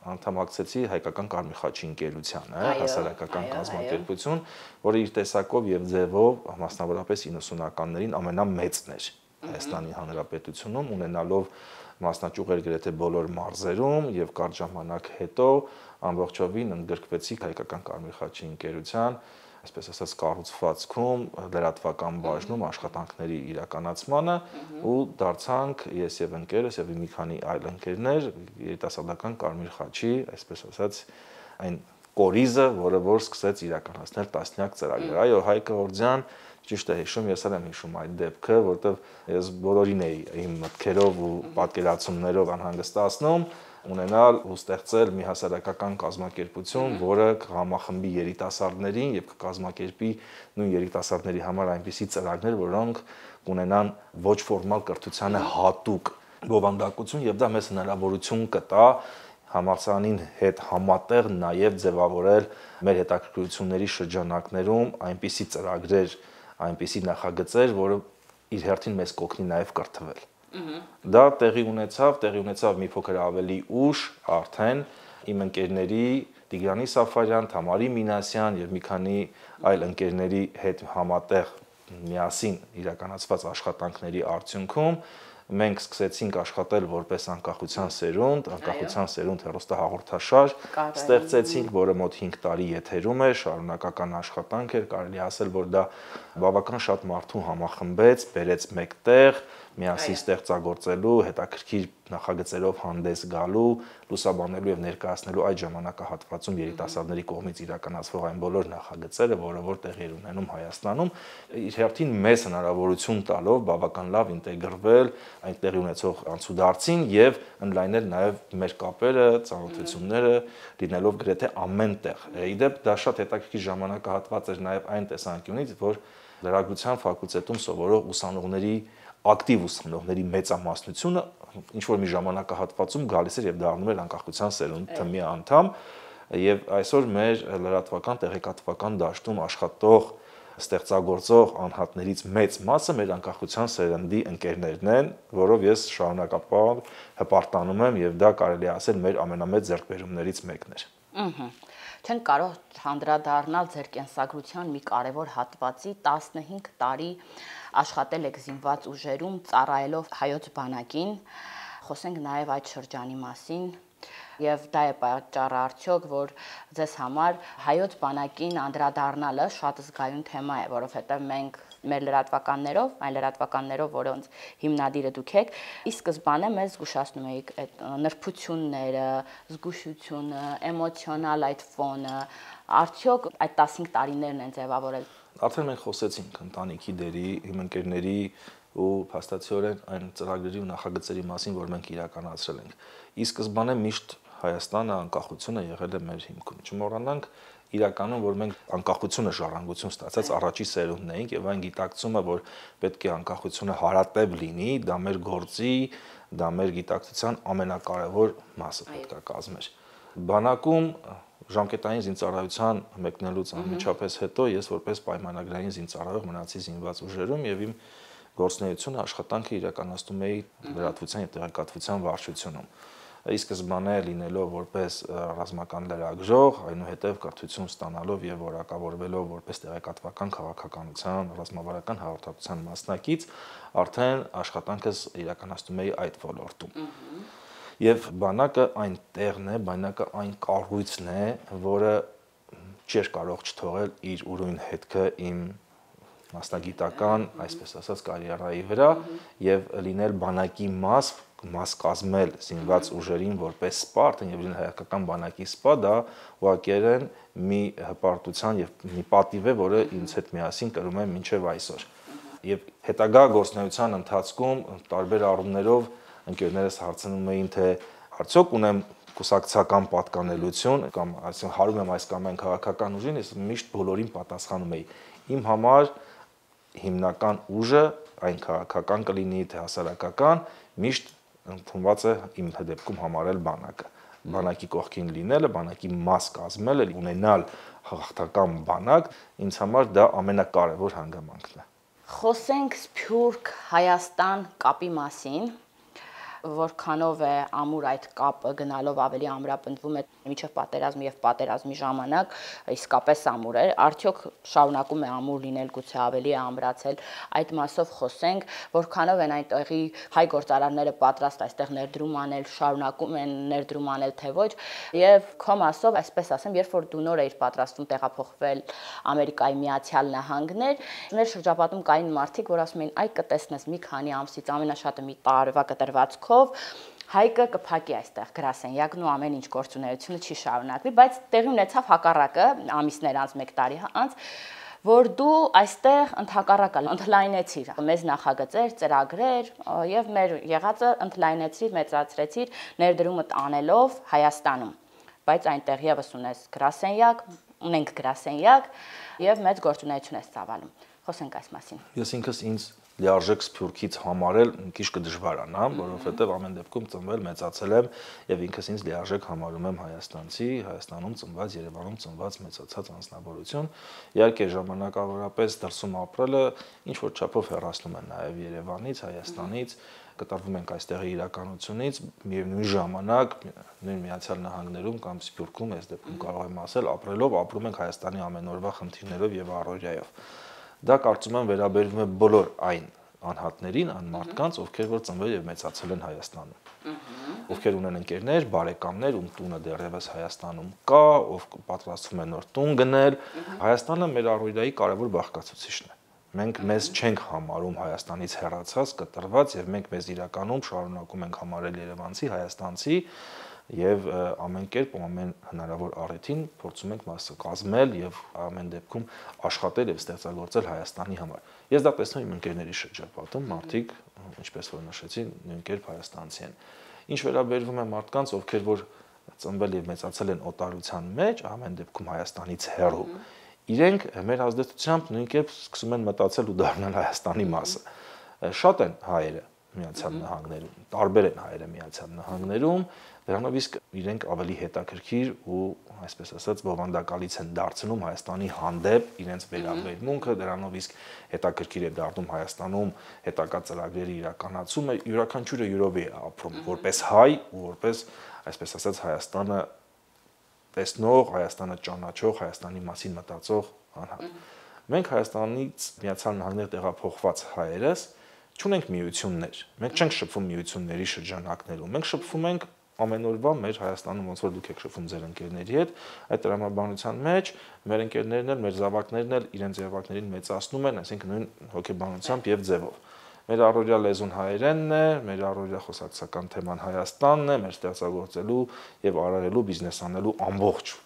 անդամակցեցի Հայկական Կարմիր խաչի ընկերությանը, հասարակական կազմակերպություն, որը իր տեսակով եւ ձևով մասնավորապես 90-ականներին ամենամեծն էր Հայաստանի Հանրապետությունում, ունենալով մասնաճյուղեր գրեթե բոլոր մարզերում եւ կարճ ժամանակ հետո ամբողջովին ընդգրկվեցի Հայկական Կարմիր խաչի ընկերության, այսպես ասած, կառուցվածքում, լրատվական բաժնում աշխատանքների իրականացմանը ու դարձանք ես եւ ընկերս եւ մի քանի այլ ընկերներ երիտասարդական Կարմիր խաչի, այսպես ասած, այն կորիզը, որը որ սկսեց իրականացնել տասնյակ ծրագրեր։ Այո, Հայկ Օրդյան ճիշտ է հիշում, ես էլ եմ հիշում այդ դեպքը, որտեղ ես բոլորին էի իմ մտքերով ու պատկերացումներով անհանգստացնում, ունենալ ու ստեղծել մի հասարակական կազմակերպություն, որը կհամախմբի երիտասարդներին եւ կկազմակերպի նույն երիտասարդների համար այնպիսի ծրագրեր, որոնք կունենան ոչ ֆորմալ կրթությանը հատուկ բովանդակություն եւ դա մեզ հնարավորություն կտա համալսարանին հետ համատեղ նաև ձևավորել մեր հետաքրքրությունների շրջանակներում այնպիսի ծրագրեր, այնպիսի նախագծեր, որը իր հերթին մեզ կօգնի նաև կրթվել։ Դա տեղի ունեցավ մի փոքր ավելի ուշ արդեն իմ ընկերների Տիգրանի Սաֆարյան, Թամարի Մինասյան եւ մի քանի այլ ընկերների հետ համատեղ միասին իրականացված աշխատանքների արդյունքում մենք սկսեցինք աշխատել որպես անկախության սերունդ հեռուստահաղորդաշար, ստեղծեցինք, որը մոտ 5 տարի եթերում է, շարունակական աշխատանք էր, կարելի ասել, որ դա բավական շատ մարդու համախմբեց, բերեց մեկտեղ, միասին ստեղծագործելու, հետաքրքիր նախագծերով հանդես գալու, լուսաբանելու եւ ներկայացնելու այդ ժամանակահատվածում երիտասարդների կողմից իրականացվող այն բոլոր նախագծերը, որը որ տեղի էր ունենում Հայաստանում, իր հերթին մեծ հնարավորություն տալով բավական լավ ինտեգրվել այն տեղի ունեցող անցուդարձին եւ ընդլայնել նաեւ մեր կապերը, ծանոթությունները, լինելով գրեթե ամենտեղ։ Իդեպ դա շատ հետաքրքիր ժամանակահատված էր նաեւ այն տեսանկյունից, որ լրագրության ֆակուլտետում սովորող ուսանողների ակտիվ ուսանողների մեծամասնությունը ինչ որ մի ժամանակահատվածում գալիս էր եւ դառնում էր անկախության սերունդ թմի անդամ եւ այսօր մեր լրատվական տեղեկատվական դաշտում աշխատող ստեղծագործող անհատներից մեծ մասը մեր անկախության սերնդի ընկերներն են, որով ես շարունակապար հպարտանում եմ եւ դա կարելի է ասել մեր ամենամեծ ձեռքբերումներից մեկն էր։ Չեն կարող հանդրադառնալ ձեր կենսագրության մի կարևոր հատվածի 15 տարի աշխատել եք զինված ուժերում ծառայելով հայոց բանակին, խոսենք նաեւ այդ շրջանի մասին։ Եվ դա է պատճառը արդյոք, որ ձեզ համար հայոց բանակին անդրադառնալը շատ զգայուն թեմա է, որովհետև մենք մեր լրատվականներով, այն լրատվականներով, որոնց հիմնադիրը դուք եք, ի սկզբանե մեզ զգուշացնում էիք այդ նրբությունները, զգուշությունը, էմոցիոնալ այդ ֆոնը, արդյոք այդ 15 տարիներն են ձևավորել։ Արդեն մենք խոսեցինք ընտանիքի դերի, իմ ընկերների ու փաստացիորեն այն ծրագրերի ու նախագծերի մասին, որ մենք իրականացրել ենք։ Ի սկզբանե միշտ Հայաստանը անկախությունը եղել է մեր հիմքում։ Չմոռանանք իրականում, որ մենք անկախությունը ժառանգություն ստացած առաջի սերունդն էինք եւ այն գիտակցումը, որ պետք է անկախությունը հարատև լինի, դա մեր գործի, դա մեր գիտակցության ամենակարևոր մասը պետք է կազմեր։ Բանակում ժամկետային զինծառայության մեկնելուց անմիջապես հետո ես որպես պայմանագրային զինծառայող մնացի զինված ուժերում եւ իմ գործունեությունը աշխատանքը իրականացնում էի լրատվության եւ տեղեկատվության վարչությունում։ Ի սկզբանե լինելով որպես ռազմական լրագրող, այնուհետև կրթություն ստանալով եւ որակավորվելով որպես տեղեկատվական քաղաքականության, ռազմավարական հաղորդակցության մասնակից, արդեն աշխատանքս իրականացնում էի այդ ոլորտում։ Եվ բանակը այն տեղն է, բանակը այն կառույցն է, որը չէր կարող չթողել իր ուրույն հետքը իմ մասնագիտական, այսպես ասած, կարիերայի վրա եւ լինել բանակի մաս կազմել զինված ուժերին որպես սպարտ եւ լինել հայկական բանակի սպա, դա ուղղակիորեն մի հպարտության եւ մի պատիվ է, որը ինձ հետ միասին կրում եմ մինչեւ այսօր։ Եւ հետագա գործունեության ընթացքում տարբեր առումներով ընկերներս հարցնում էին, թե արդյոք ունեմ կուսակցական պատկանելություն կամ այսինքն հարում եմ այս կամ այն քաղաքական ուժին, ես միշտ բոլորին պատասխանում էի։ Իմ համար հիմնական ուժը, այն քաղաքական կլինի, թե հասարակական, միշտ ընդունված է իմ դեպքում համարել բանակը։ Բանակի կողքին լինելը, բանակի մաս կազմելը, ունենալ հաղթական բանակ, ինձ համար դա ամենակարևոր հանգամանքն է։ Խոսենք Սփյուռք Հայաստան կապի մասին, որքանով է ամուր այդ կապը գնալով ավելի ամրապնդվում է մինչև պատերազմի եւ պատերազմի ժամանակ, իսկապես ամուր է, արդյոք շարունակում է ամուր լինել, գուցե ավելի է ամրացել, այդ մասով խոսենք, որքանով են այնտեղի հայ գործարարները պատրաստ այստեղ ներդրում անել, շարունակում են ներդրում անել, թե ոչ, եւ քո մասով, այսպես ասեմ, երբ որ դու նոր էիր պատրաստվում տեղափոխվել Ամերիկայի Միացյալ Նահանգներ, մեր շրջապատում կային մարդիկ, որ ասում էին, այ կտեսնես մի քանի ամսից ամենաշատը մի տարվա կտրվածքով Հայկը կփակի այստեղ գրասենյակն ու ամեն ինչ գործունեությունը չի շարունակվի, բայց տեղի ունեցավ հակառակը ամիսներ անց, 1 տարի անց, որ դու այստեղ ընդհակառակը ընդլայնեցիր մեզ նախագծեր, ծրագրեր եւ մեր եղածը ընդլայնեցիր, մեծացրեցիր ներդրումդ անելով Հայաստանում, բայց այնտեղ եւս ունենք գրասենյակ եւ մեծ գործունեություն ես ծավալում։ Խոսենք այս մասին։ Ես ինքս ինձ լիարժեք Սփյուռքից համարել մի քիչ կդժվարանա, որովհետև ամեն դեպքում ծնվել, մեծացել եմ եւ ինքս ինձ լիարժեք համարում եմ հայաստանցի, Հայաստանում ծնված, Երևանում ծնված մեծացած անձնավորություն։ Իհարկե ժամանակավորապես դրսում ապրելը ինչ որ չափով հեռացնում է նաեւ Երևանից, Հայաստանից, կտրվում ենք այստեղի իրականությունից, միևնույն ժամանակ նույն Միացյալ Նահանգներում կամ Սփյուռքում, այս դեպքում կարող եմ ասել, ապրելով ապրում ենք Հայաստանի ամենօրվա խնդիրներով եւ առօրյայով։ Դա կարծում եմ վերաբերվում է բոլոր այն անհատներին, այն մարդկանց, ովքեր որ ծնվել եւ մեծացել են Հայաստանում, ովքեր ունեն ընկերներ, բարեկամներ, ում տունը դեռևս Հայաստանում կա, ով պատրաստվում է նոր տուն գնել, Հայաստանը մեր առօրյայի կարևոր բաղկացուցիչն է։ Մենք մեզ չենք համարում Հայաստանից հեռացած, կտրված եւ մենք մեզ իրականում շարունակում ենք համարել երևանցի, հայաստանցի եւ ամեն կերպ ու ամեն հնարավոր առիթին փորձում ենք մասը կազմել եւ ամեն դեպքում աշխատել եւ ստեղծագործել Հայաստանի համար։ Ես դա տեսնում եմ ընկերների շրջապատում, մարդիկ, ինչպես որ նշեցի, նույն կերպ հայաստանցի են։ Ինչ վերաբերվում է մարդկանց, ովքեր որ ծնվել եւ մեծացել են օտարության մեջ, ամեն դեպքում Հայաստանից հեռու, իրենք մեր ազդեցությամբ նույն կերպ սկսում են մտածել ու դառնալ Հայաստանի մասը։ շատ են հայերը Միացյալ Նահանգներում, տարբեր են հայերը Միացյալ Նահանգներում, դրանով իսկ իրենք ավելի հետաքրքիր ու այսպես ասած բովանդակալից են դարձնում Հայաստանի հանդեպ իրենց վերաբերմունքը, դրանով իսկ հետաքրքիր է դառնում Հայաստանում հետագա ծրագրերի իրականացումը, յուրաքանչյուրը յուրովի է ապրում որպես հայ ու որպես այսպես ասած Հայաստանը տեսնող, Հայաստանը ճանաչող, Հայաստանի մասին մտածող անհատ։ Մենք Հայաստանից Միացյալ Նահանգներ տեղափոխված հայերս չունենք միություններ։ Մենք չենք շփվում միությունների շրջանակներում։ Մենք շփվում ենք ամեն օրվա մեր Հայաստանում ոնց որ դուք եք շփվում ձեր ընկերների հետ, այդ տրամաբանության մեջ մեր ընկերներն էլ, մեր զավակներն էլ իրենց զավակներին մեծացնում են, այսինքն նույն հոգեբանությամբ եւ ձևով։ Մեր առօրյա լեզուն հայերենն է, մեր առօրյա խոսակցական թեման Հայաստանն է, մեր ստեղծագործելու եւ արարելու, բիզնես անելու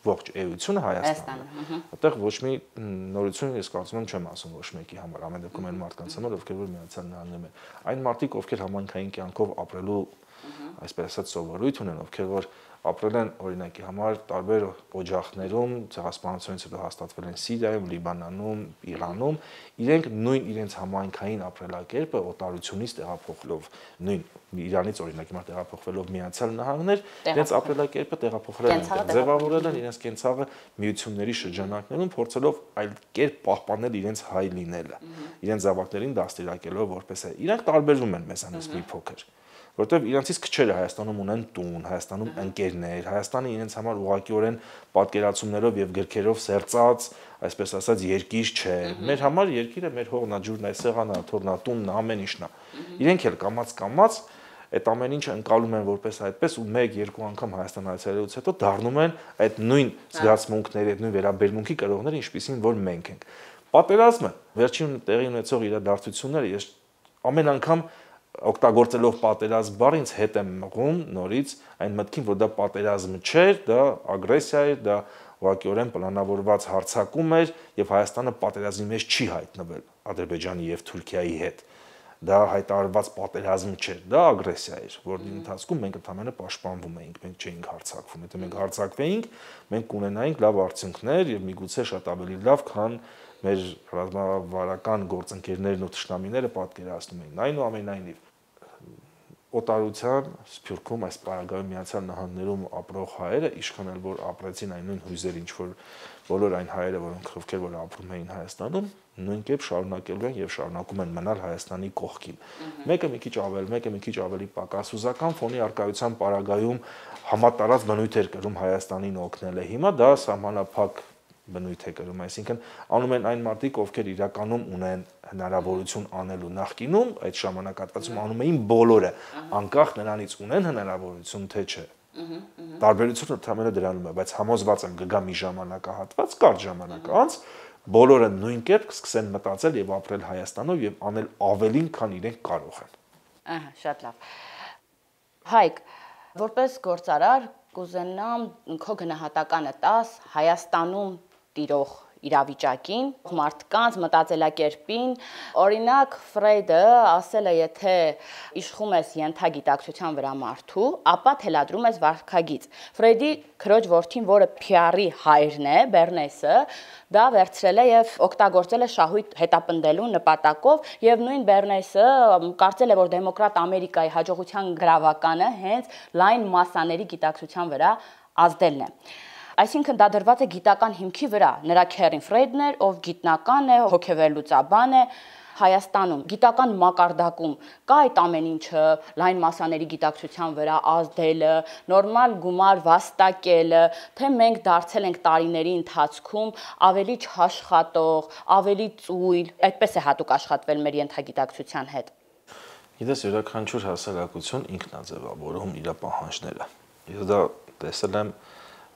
ողջ էությունը Հայաստանն է։ Այդտեղ ոչ մի նորություն ես կարծում եմ չեմ ասում ոչ մեկի համար, ամեն դեպքում այն մարդկանց համար, ովքեր որ Միացյալ Նահանգներում են։ Այն մարդիկ, ովքեր համայնքային կյանքով ապրելու այսպես ասած սովորույթ ունեն, ովքեր որ ապրել են օրինակի համար տարբեր օջախներում, ցեղասպանությունից հետո հաստատվել են Սիրիայում, Լիբանանում, Իրանում, իրենք նույն իրենց համայնքային ապրելակերպը օտարությունից տեղափոխելով, նույն Իրանից օրինակի համար տեղափոխվելով Միացյալ Նահանգներ, իրենց ապրելակերպը տեղափոխել են, ձևավորել են իրենց կենցաղը միությունների շրջանակներում, փորձելով այլ կերպ պահպանել իրենց հայ լինելը, իրենց զավակներին դաստիարակելով որպես է։ Իրանք տարբերվում են մեզանից մի փոքր որտեվ իրանցից քչերը Հայաստանում ունեն տուն, Հայաստանում ընկերներ, Հայաստանը իրենց համար ուղղակիորեն պատկերացումներով եւ գրքերով սերծած, այսպես ասած, երկիր չէ։ Մեր համար երկիրը մեր հողն է, ջուրն է, սեղանն է, թորնա, տունն է, ամեն ինչն է։ Իրենք էլ կամած այդ ամեն ինչը ընկալում են որպես այդպես ու 1-2 անգամ Հայաստան այցելելուց հետո դառնում են այդ նույն զգացմունքների, այդ նույն վերաբերմունքի կրողները, ինչպիսին որ մենք ենք։ Պատերազմը, վերջին տեղի ունեցող իրադարձությունները ես ամեն անգամ օգտագործելով պատերազմ բառը ինձ հետ եմ մղում նորից այն մտքին, որ դա պատերազմ չէր, դա ագրեսիա էր, դա ուղղակիորեն պլանավորված հարձակում էր եւ Հայաստանը պատերազմի մեջ չի հայտնվել Ադրբեջանի եւ Թուրքիայի հետ։ Դա հայտարարված պատերազմ չէր, դա ագրեսիա էր, որի ընթացքում մենք ընդհանրապես պաշտպանվում էինք, մենք չէինք հարձակվում։ Եթե մենք հարձակվեինք, մենք կունենայինք լավ արդյունքներ եւ միգուցե շատ ավելի լավ, քան մեր ռազմավարական գործընկերներն ու թշնամիները պատկերացնում էին։ Այնուամենայնիվ օտարության սփյուռքում այս պարագայում Միացյալ Նահանգներում ապրող հայերը իշխան էլ որ ապրեցին այն նույն հույզեր, ինչ որ բոլոր այն հայերը, որոնք ովքեր որ ապրում էին Հայաստանում, նույն կերպ շարունակելու են եւ շարունակում են մնալ Հայաստանի կողքին։ Մեկը մի քիչ ավելի պակասուզական ֆոնի արկայության պարագայում համատարած բնույթ էր կրում Հայաստանին օգնելը։ Հիմա դա սահմանափակ բնույթ է կրում, այսինքն անում են այն մարդիկ, ովքեր իրականում ունեն հնարավորություն անելու նախկինում, այդ ժամանակահատվածում անում էին բոլորը, անկախ նրանից ունեն հնարավորություն թե չէ։ Տարբերությունը ընդհանրապես դրանում է, բայց համոզված եմ կգա մի ժամանակահատված, կարճ ժամանակ անց, բոլորը նույն կերպ կսկսեն մտածել եւ ապրել Հայաստանով եւ անել ավելին, քան իրենք կարող են։ Ահա, շատ լավ։ Հայկ, որպես գործարար կուզենամ քո գնահատականը տաս Հայաստանում տիրող իրավիճակին, մարդկանց մտածելակերպին, օրինակ Ֆրեյդը ասել է, եթե իշխում ես ենթագիտակցության վրա մարդու, ապա թելադրում ես վարքագիծ։ Ֆրեյդի քրոջ որդին, որը PR-ի հայրն է, Բերնեսը, դա վերցրել է եւ օգտագործել է շահույթ հետապնդելու նպատակով եւ նույն Բերնեսը կարծել է, որ դեմոկրատ Ամերիկայի հաջողության գրավականը հենց լայն մասաների գիտակցության վրա ազդելն է։ Այսինքն դա դրված է գիտական հիմքի վրա։ Նրա քերին Ֆրեյդն էր, ով գիտնական է, հոգեվերլուծաբան է Հայաստանում, գիտական մակարդակում կա այդ ամեն ինչը, լայն մասաների գիտակցության վրա ազդելը, նորմալ գումար վաստակելը, թե մենք դարձել ենք տարիների ընթացքում ավելի չաշխատող, ավելի ծույլ, այդպես է հատուկ աշխատվել մեր ենթագիտակցության հետ։ Գիտես, յուրաքանչյուր հասարակություն ինքն է ձևավորում իր պահանջները։ Ես դա տեսել եմ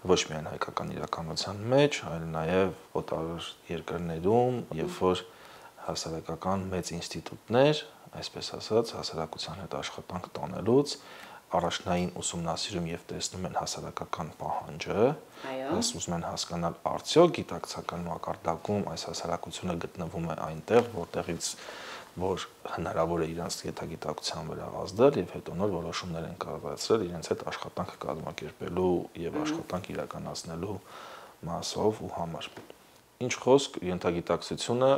ոչ միայն հայկական իրականության մեջ, այլ նաև օտար երկրներում, երբ որ հասարակական մեծ ինստիտուտներ, այսպես ասած, հասարակության հետ աշխատանք տանելուց առաջնային ուսումնասիրում եւ տեսնում են հասարակական պահանջը, ուզում են հասկանալ արդյոք գիտակցական մակարդակում այս հասարակությունը գտնվում է այնտեղ, որտեղից որ հնարավոր է իրենց գիտակցության վրա ազդել եւ հետո նոր որոշումներ են կայացրել իրենց հետ աշխատանք կազմակերպելու եւ աշխատանք իրականացնելու մասով ու համար։ Ինչ խոսք ենթագիտակցությունը,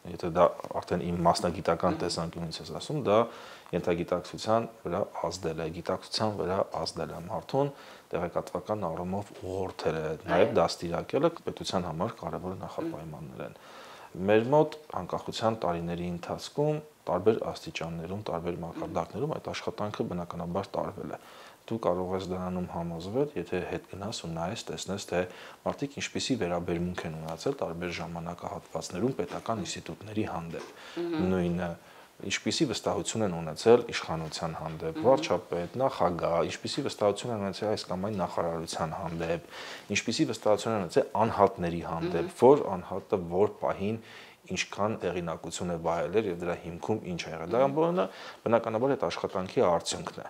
եթե դա արդեն իմ մասնագիտական տեսանկյունից ես ասում, դա ենթագիտակցության վրա ազդել է, գիտակցության վրա ազդել է մարդուն, տեղեկատվական առումով ուղղորդել է, նաև դաստիարակել է պետության համար կարևոր նախապայմաններ են։ Մեր մոտ անկախության տարիների ընթացքում տարբեր աստիճաններում, տարբեր մակարդակներում այդ աշխատանքը բնականաբար տարվել է։ Դու կարող ես դրանում համոզվել, եթե հետ գնաս ու նայես, տեսնես, թե մարդիկ ինչպիսի վերաբերմունք են ունեցել տարբեր ժամանակահատվածներում պետական ինստիտուտների հանդեպ։ Նույնը ինչպիսի վստահություն են ունեցել իշխանության հանդեպ, վարչապետ, նախագահ, ինչպիսի վստահություն են ունեցել այս կամ այն նախարարության հանդեպ, ինչպիսի վստահություն են ունեցել անհատների հանդեպ, որ անհատը որ պահին ինչքան տեղինակություն է վայելել եւ դրա հիմքում ինչ է եղել։ Դա ամբողջը բնականաբար այդ աշխատանքի արդյունքն է։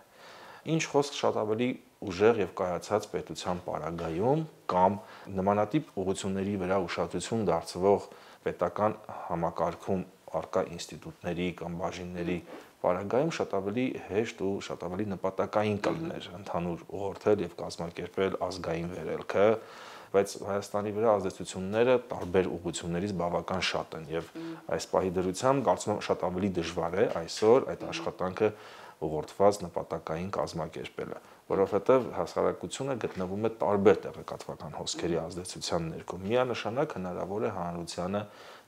Ինչ խոսք շատ ավելի ուժեղ եւ կայացած պետության պարագայում կամ նմանատիպ ուղղությունների վրա ուշադրություն դարձվող պետական համակարգում արկա ինստիտուտների կամ բաժինների պարագայում շատ ավելի հեշտ ու շատ ավելի նպատակային կլիներ ընդհանուր ուղղորդել եւ կազմակերպել ազգային վերելքը, բայց Հայաստանի վրա ազդեցությունները տարբեր ուղղություններից բավական շատ են եւ այս պահի դրությամբ կարծում եմ շատ ավելի դժվար է այսօր այդ աշխատանքը ուղղորդված նպատակային կազմակերպելը, որովհետև հասարակությունը գտնվում է տարբեր տեղեկատվական հոսքերի ազդեցության ներքո։ Միանշանակ հնարավոր է հանրությանը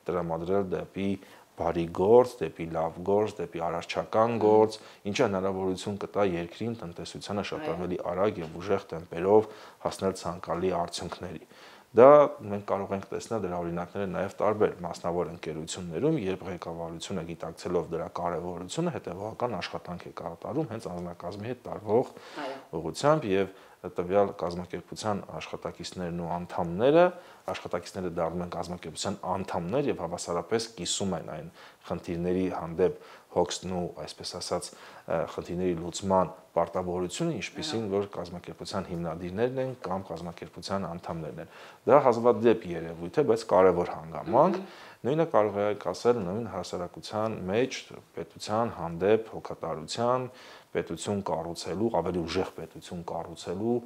տրամադրել դեպի բարի գործ, դեպի լավ գործ, դեպի արարչական գործ, ինչը հնարավորություն կտա երկրին, տնտեսությանը շատ ավելի արագ եւ ուժեղ տեմպերով հասնել ցանկալի արդյունքների։ Դա մենք կարող ենք տեսնել դրա օրինակները նաև տարբեր մասնավոր ընկերություններում, երբ ղեկավարությունը գիտակցելով դրա կարևորությունը հետևողական աշխատանք է կատարում հենց անձնակազմի հետ տարվող ուղղությամբ եւ տվյալ կազմակերպության աշխատակիցներն ու աշխատակիցները դառնում են կազմակերպության անդամներ եւ հավասարապես կիսում են այն խնդիրների հանդեպ հոգսն ու այսպես ասած խնդիրների լուծման պարտավորությունը, ինչպիսին որ կազմակերպության հիմնադիրներն են կամ կազմակերպության անդամներն են։ Դա հազվադեպ երևույթ է, բայց կարևոր հանգամանք։ Նույնը կարող է ասել նույն հասարակության մեջ պետության հանդեպ հոգատարության, պետություն կառուցելու, ավելի ուժեղ պետություն կառուցելու,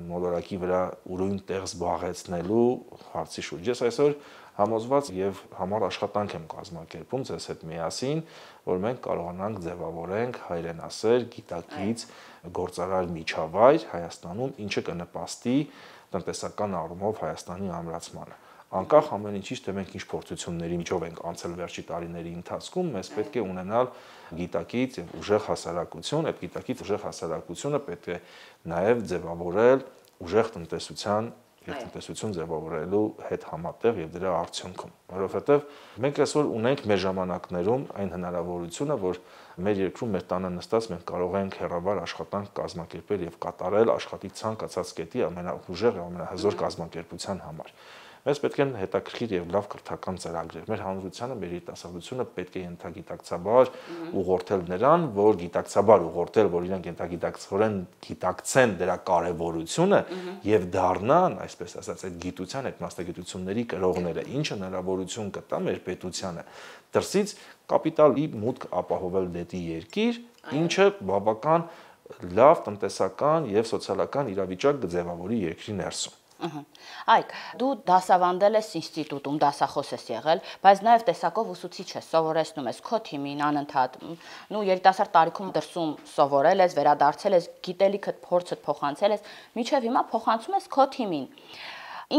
մոլորակի վրա ուրույն տեղ զբաղեցնելու հարցի շուրջ։ Ես այսօր համոզված եւ համար աշխատանք եմ կազմակերպում ձեզ հետ միասին, որ մենք կարողանանք ձևավորենք հայրենասեր, գիտակից գործարար միջավայր Հայաստանում, ինչը կնպաստի տնտեսական առումով Հայաստանի ամրացմանը։ Անկախ ամեն ինչից, թե մենք ինչ փորձությունների միջով ենք անցել վերջի տարիների ընթացքում, մեզ պետք է ունենալ գիտակից եւ ուժեղ հասարակություն, այդ գիտակից ուժեղ հասարակությունը պետք է նաեւ ձևավորել ուժեղ տնտեսության եւ տնտեսություն ձևավորելու հետ համատեղ եւ դրա արդյունքում, որովհետեւ մենք այսօր ունենք մեր ժամանակներում այն հնարավորությունը, որ մեր երկրում մեր տանը նստած մենք կարող ենք հեռավար աշխատանք կազմակերպել եւ կատարել աշխատի ցանկացած կետի ամենաուժեղ եւ ամենահզոր կազմակերպության համար։ Մեզ պետք են հետաքրքիր եւ լավ կրթական ծրագրեր։ Մեր հանրությանը, մեր երիտասարդությունը պետք է ենթագիտակցաբար ուղղորդել նրան, որ գիտակցաբար ուղղորդել, որ իրենք ենթագիտակցորեն գիտակցեն դրա կարեւորությունը եւ դառնան, այսպես ասած, այդ գիտության, այդ մասնագիտությունների կրողները, ինչը հնարավորություն կտա մեր պետությանը դրսից կապիտալի մուտք ապահովել դեպի երկիր, ինչը բավական լավ տնտեսական եւ սոցիալական իրավիճակ կձևավորի երկրի ներսում։ Այք, դու դասավանդել ես ինստիտուտում, դասախոս ես եղել, բայց նաև տեսակով ուսուցիչ ես, սովորեցնում ես քո թիմին անընդհատ, երիտասարդ տարիքում դրսում սովորել ես, վերադարձել ես, գիտելիքդ, փորձդ փոխանցել ես, մինչև հիմա փոխանցում ես քո թիմին։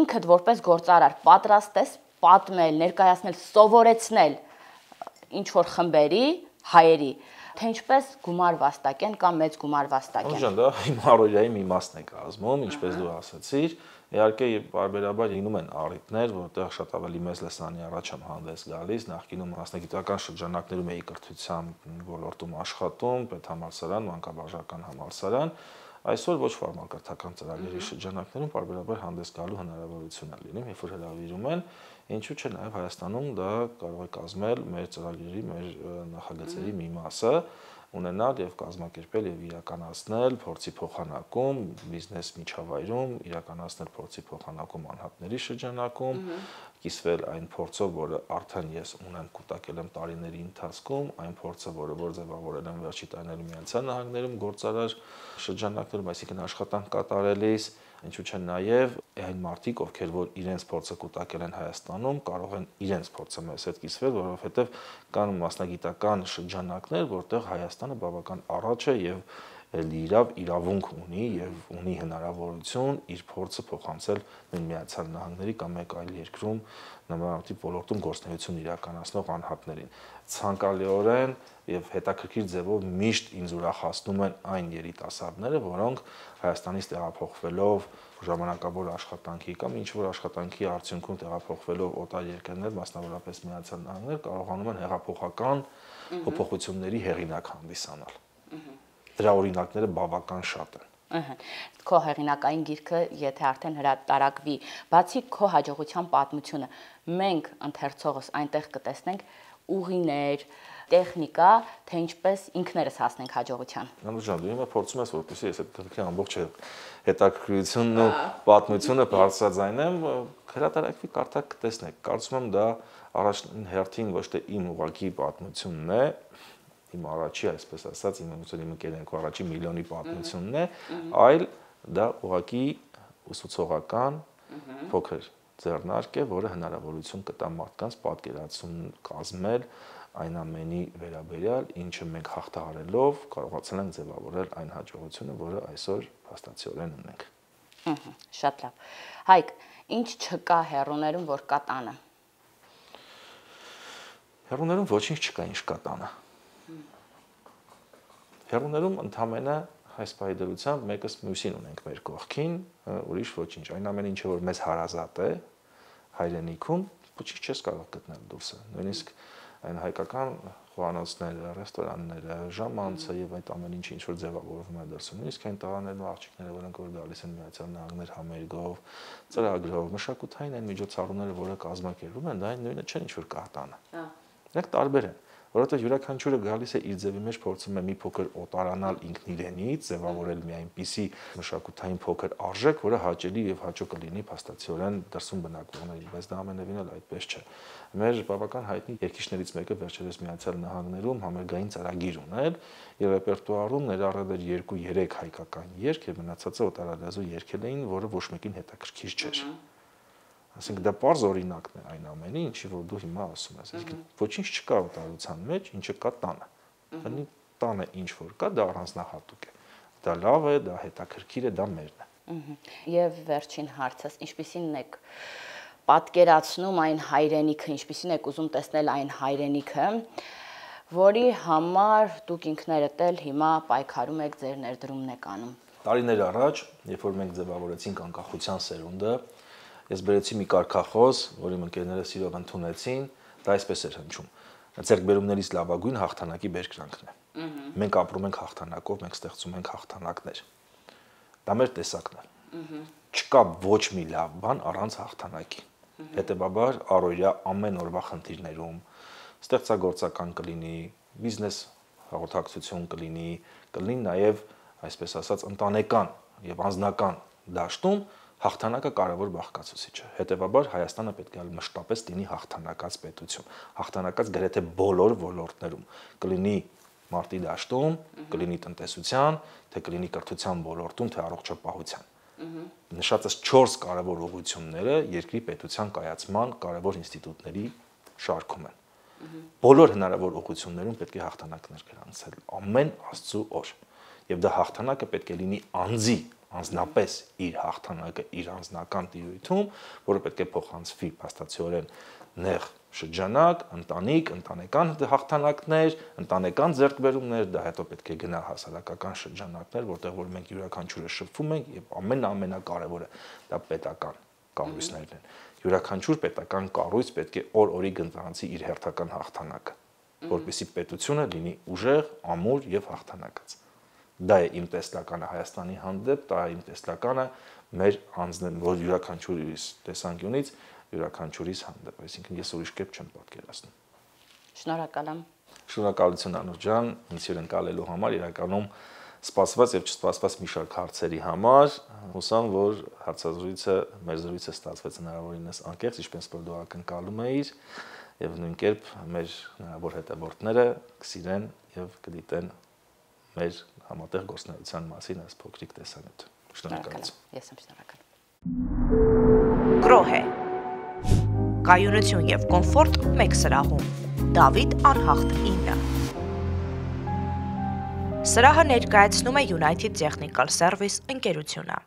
Ինքդ որպես գործարար պատրաստ ես պատմել, ներկայացնել, սովորեցնել ինչ որ խմբերի, հայերի, թե ինչպես գումար վաստակեն կամ մեծ գումար վաստակեն։ Ջան, դա իմ առօրյայի մի մասն է կազմում, ինչպես դու ասացիր։ Իհարկե, բարբերաբար լինում են առիթներ, որտեղ շատ ավելի մեծ լսանի առաջ եմ հանդես գալիս, նախկինում մասնագիտական շրջանակներում էի կրթության ոլորտում աշխատում, պետհամալսարան, մանկավարժական համալսարան, այսօր ոչ ֆորմալ կրթական ծրագրերի շրջանակներում բարբերաբար հանդես գալու հնարավորություն է լինում, երբ որ հրավիրում են, ինչու՞ չէ նաև Հայաստանում դա կարող է կազմել մեր ծրագրերի, մեր նախագծերի մի մասը, ունենալ եւ կազմակերպել եւ իրականացնել փորձի փոխանակում բիզնես միջավայրում, իրականացնել փորձի փոխանակում անհատների շրջանակում, կիսվել այն փորձով, որը արդեն ես ունեմ կուտակել եմ տարիների ընթացքում, այն փորձը, որ ձևավորել եմ վերջի տարիներում Միացյալ Նահանգներում գործարար շրջանակներում, այսինքն աշխատանք կատարելիս, Ինչու՞ չէ նաև այն մարդիկ, ովքեր որ իրենց փորձը կուտակել են Հայաստանում, կարող են իրենց փորձը մեզ հետ կիսվել, որովհետև կան մասնագիտական շրջանակներ, որտեղ Հայաստանը բավական առաջ է եւ իրավունք ունի եւ ունի հնարավորություն իր փորձը փոխանցել նույն Միացյալ Նահանգների կամ մեկ այլ երկրում նմանատիպ ոլորտում գործունեություն իրականացնող անհատներին։ Ցանկալիորեն եւ հետաքրքիր ձևով միշտ ինձ ուրախացնում են այն երիտասարդները, որոնք Հայաստանից տեղափոխվելով ժամանակավոր աշխատանքի կամ ինչ-որ աշխատանքի արդյունքում տեղափոխվելով օտար երկրներ, մասնավորապես Միացյալ Նահանգներ, կարողանում են հեղափոխական փոփոխությունների հեղինակ հանդիսանալ։ Դրա օրինակները բավական շատ են։ Քո հեղինակային գիրքը, եթե արդեն հրատարակվի, բացի քո հաջողության պատմությունը, մենք ընթերցողս այնտեղ կտեսնենք ուղիներ, տեխնիկա, թե ինչպես ինքներս հասնենք հաջողության։ Նանու ջան, դու հիմա փորձում ես որպեսզի ես այդ գրքի ամբողջ հետաքրքրությունն ու պատմությունը բարձրաձայնեմ, հրատարակվի կարդակ կտեսնեք։ Կարծում եմ դա առաջին հերթին ոչ թե իմ ուղղակի պատմությունն է, իմ առաջի, այսպես ասած, իմ ընկերներու առաջի միլիոնի պատմությունն է, այլ դա ուղղակի ուսուցողական փոքր ձեռնարկ է, որը հնարավորություն կտա մարդկանց պատկերացում կազմել այն ամենի վերաբերյալ, ինչը մենք հաղթահարելով կարողացել ենք ձևավորել այն հաջողությունը, որը այսօր փաստացիորեն ունենք։ Շատ լավ։ Հայկ, ինչ չկա հեռուներում, որ կա տանը։ Հեռուներում ոչինչ չկա, ինչ կա տանը։ Հեռուներում ընդամենը այս պայդրությամբ մեկս մյուսին ունենք մեր կողքին, ուրիշ ոչինչ։ Այն ամենը ինչը որ մեզ հարազատ է հայրենիքում, ոչինչ չես կարող գտնել դուրսը։ Նույնիսկ այն հայկական խոհանոցները, ռեստորանները, ժամանցը եւ այդ ամեն ինչը ինչ որ ձևավորվում է դրսում։ Նույնիսկ այն տղաներն ու աղջիկները, որոնք որ գալիս են Միացյալ Նահանգներ համերգով, ծրագրով, մշակութային այն միջոցառումները, որը կազմակերպում են, դա այն նույնը չէ, ինչ որ կա տանը։ Դրանք տարբեր են, որովհետեւ յուրաքանչյուրը գալիս է իր ձևի մեջ փորձում է մի փոքր օտարանալ ինքն իրենից, ձևավորել մի այնպիսի մշակութային փոքր արժեք, որը հաճելի եւ հաճո կլինի փաստացիորեն դրսում բնակվողներին, բայց դա ամենևին էլ այդպես չէ։ Մեր բավական հայտնի երգիչներից մեկը վերջերս Միացյալ Նահանգներում համերգային ծրագիր ուներ, եւ ռեպերտուարում ներառել էր 2-3 հայկական երգ եւ մնացածը օտարալեզու երգեր էին, որը ոչ մեկին հետաքրքիր չէր։ Այսինքն դա պարզ օրինակն է այն ամենի, ինչի որ դու հիմա ասում ես։ Այսինքն ոչինչ չկա օտարության մեջ, ինչը կա տանը։ Բնի տանը ինչ որ կա, դա առանձնահատուկ է։ Դա լավ է, դա հետաքրքիր է, դա մերն է։ Եվ վերջին հարցս, ինչպիսին եք պատկերացնում այն հայրենիքը, ինչպիսին եք ուզում տեսնել այն հայրենիքը, որի համար դուք ինքներդ էլ հիմա պայքարում եք, ձեր ներդրումն եք անում։ Տարիներ առաջ, երբ որ մենք ձևավորեցինք անկախության սերունդը, ես բերեցի մի կարգախոս, որի ընկերները սիրով ընդունեցին, դա այսպես էր հնչում. ձեռքբերումներից լավագույն հաղթանակի բերկրանքն է։ Մենք ապրում ենք հաղթանակով, մենք ստեղծում ենք հաղթանակներ։ Դա մեր տեսակն է։ Չկա ոչ մի լավ բան առանց հաղթանակի։ Հետևաբար առօրյա ամեն օրվա խնդիրներում ստեղծագործական կլինի, բիզնես հաղորդակցություն կլինի նաև, այսպես ասած, ընտանեկան եւ անձնական դաշտում հաղթանակը կարևոր բաղկացուցիչ է։ Հետևաբար Հայաստանը պետք է մշտապես լինի հաղթանակած պետություն, հաղթանակած գրեթե բոլոր ոլորտներում, կլինի մարտի դաշտում, կլինի տնտեսության, թե կլինի կրթության ոլորտում, թե առողջապահության։ Նշածս 4 կարևոր ուղղությունները երկրի պետության կայացման կարևոր ինստիտուտների շարքում են։ Բոլոր հնարավոր ուղղություններում պետք է հաղթանակներ գրանցել ամեն Աստծո օր։ Եվ դա հաղթանակը պետք է լինի անձի անձնապես իր հաղթանակը իր անձնական տիրույթում, որը պետք է փոխանցվի փաստացիորեն նեղ շրջանակ, ընտանիք, ընտանեկան հաղթանակներ, ընտանեկան ձեռքբերումներ, դա հետո պետք է գնա հասարակական շրջանակներ, որտեղ որ մենք յուրաքանչյուրը շփվում ենք եւ ամենակարևորը դա պետական կառույցներն են։ Յուրաքանչյուր պետական կառույց պետք է օր-օրի գնահատի իր հերթական հաղթանակը, որպեսզի պետությունը լինի ուժեղ, ամուր եւ հաղթանակած։ Դա է իմ տեսլականը Հայաստանի հանդեպ, դա է իմ տեսլականը մեր անձն, որ յուրաքանչյուրիս տեսանկյունից յուրաքանչյուրիս հանդեպ, այսինքն ես ուրիշ կերպ չեմ պատկերացնում։ Շնորհակալ եմ։ Շնորհակալություն Անուշ ջան, ինձ հյուրընկալելու համար, իրականում սպասված եւ չսպասված մի շարք հարցերի համար։ Հուսամ, որ հարցազրույցը, մեր զրույցը ստացվեց հնարավորինս անկեղծ, ինչպես որ դու ակնկալում էիր, եւ նույն կերպ մեր հնարավոր հետևորդները կսիրեն եւ կդիտեն մեր համատեղ գործունեության մասին այս փոքրիկ տեսանյութը։ Շնորհակալություն։ Ես եմ շնորհակալ։ Կրոհե։ Կայունություն եւ կոմֆորտ մեկ սրահում։ Դավիթ Անհախտ 9։ Սրահը ներկայացնում է United Technical Service ընկերությունը։